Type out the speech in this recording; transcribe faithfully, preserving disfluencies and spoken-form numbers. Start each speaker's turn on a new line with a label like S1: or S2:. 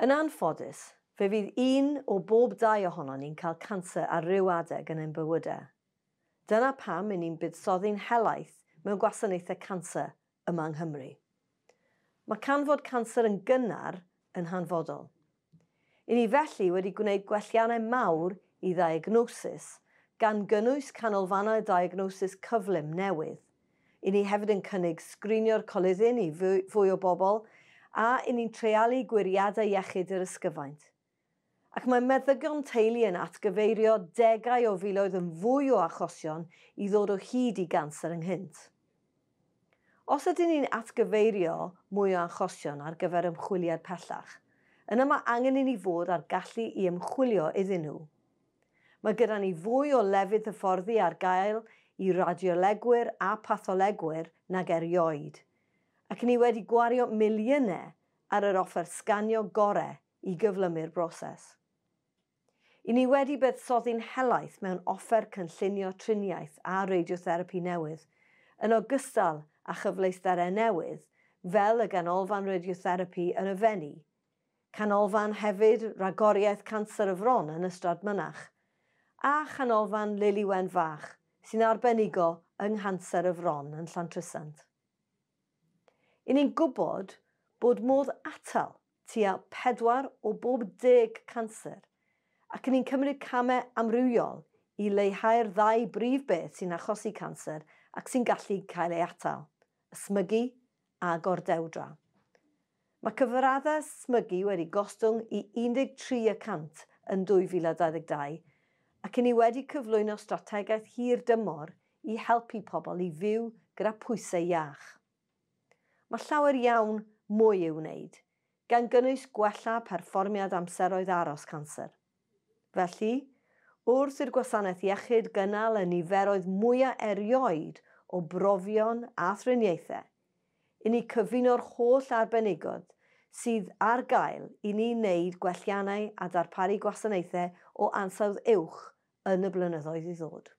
S1: Yn anffodus, fe fydd un o bob dau ohonon ni'n cael canser ar ryw adeg yn ein bywydau. Dyna pam 'yn ni'n buddsoddi'n helaeth mewn gwasanaethau canser yma yng Nghymru. Mae canfod canser yn gynnar yn hanfodol. 'Yn ni felly wedi gwneud gwelliannau mawr i ddiagnosis, gan gynnwys canolfannau diagnosis cyflym newydd. 'Yn ni hefyd yn cynnig sgrinio'r coluddyn i fwy o bobl, a 'yn ni'n treialu gwiriadau iechyd yr ysgyfaint. Ac mae meddygon teulu yn atgyfeirio degau o filoedd yn fwy o achosion i ddod o hyd i ganser ynghynt. Os ydyn ni'n atgyfeirio mwy o achosion ar gyfer ymchwiliad pellach, yna mae angen i ni fod ar gallu i ymchwilio iddyn nhw. Mae gyda ni fwy o lefydd hyfforddi ar gael i radiolegwyr a patholegwyr nag erioed, ac ni wedi gwario miliynau ar yr offer sganio gorau i gyflymu'r broses. 'Yn ni wedi buddsoddi'n helaeth mewn offer cynllunio triniaeth a radiotherapi newydd, yn ogystal â chyfleusterau newydd fel y Ganolfan Radiotherapi yn y Fenni, Canolfan hefyd Ragoriaeth Canser y Fron yn Ystrad Mynach, a Chanolfan Lili Wen Fach sy'n arbenigo yng nghanser y fron yn Llantrisant. 'Yn ni'n gwybod bod modd atal tua pedwar o bob deg canser, ac 'yn ni'n cymryd camau amrywiol i leihau'r ddau brif beth sy'n achosi canser ac sy'n gallu cael ei atal, ysmygu a gordewdra. Mae cyfraddau smygu wedi gostwng i un deg tri y cant yn dwy fil a dau ddeg dau, ac 'yn ni wedi cyflwyno strategaeth hir dymor i helpu pobl i fyw gyda pwysau iach. Mae llawer iawn mwy i'w wneud, gan gynnwys gwella perfformiad amseroedd aros canser. Felly, wrth i'r gwasanaeth iechyd gynnal y niferoedd mwyaf erioed o brofion a thriniaethau, i ni cyfuno'r holl arbenigedd sydd ar gael i ni wneud gwelliannau a darparu gwasanaethau o ansawdd uwch yn y blynyddoedd i ddod.